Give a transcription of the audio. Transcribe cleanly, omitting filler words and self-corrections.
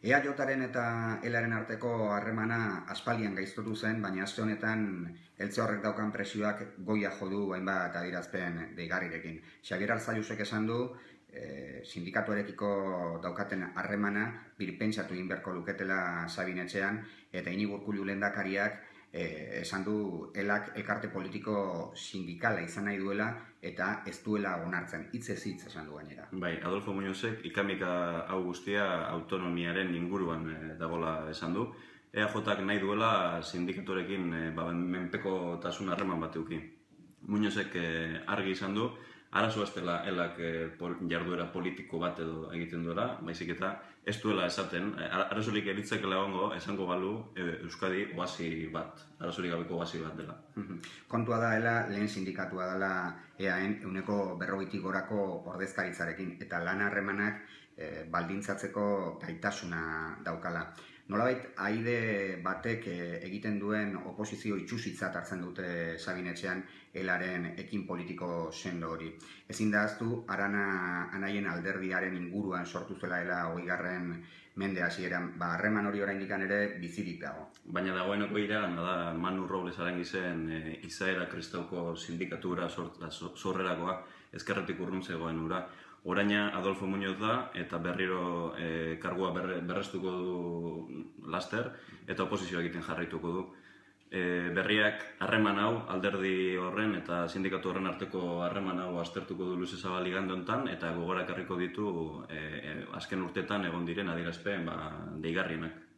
EAJaren eta ELaren arteko harremana aspaldian gaiztotu zen, baina aste honetan eltze horrek daukan presioak goia jo du hainbat adierazpen deigarrirekin. Xabier Arzallusek esan du, sindikatuarekiko daukaten harremana birpentsatu egin beharko luketela Sabin etxean, eta Iñigo Urkullu lehendakariak esan du elak elkarte politiko sindikala izan nahi duela eta ez duela onartzen, hitzez hitz esan du gainera. Bai, Adolfo Muñozek ikamika hau guztia autonomiaren inguruan dagoela esan du. EAJak nahi duela sindikatuarekin menpekotasun harreman bat eduki. Muñozek argi izan du, arazoa ez dela elak jarduera politiko bat edo egiten duela, baizik eta ez duela esaten, arazorik eritzekela esango balu Euskadi oasi bat, arazorik gabeko oasi bat dela. Kontua da ela lehen sindikatua dela EAen 40% gorako ordezkaritzarekin eta lan harremanak baldintzatzeko gaitasuna daukala. Nolabait, aide batek egiten duen oposizio itxusitzat hartzen dute Sabin etxean elaren ekin politiko sendo hori. Ezin da ahaztu, Arana Anaien alderdiaren inguruan sortu zela ela 20. Mende hasieran, harreman hori oraindik ere bizirik dago. Baina dagoeneko iragana da Manu Robles Arangizen izaera kristauko sindikatura sorrerakoa ezkerretik urrun zegoen ura. Oraina Adolfo Muñoz da eta berriro kargua berrestuko du laster eta oposizioa egiten jarraituko du. Berriak harreman hau, alderdi horren eta sindikatu horren arteko harreman hau aztertuko du luze zabal igande honetan eta gogorak harriko ditu azken urteetan egon diren adierazpen deigarrienak.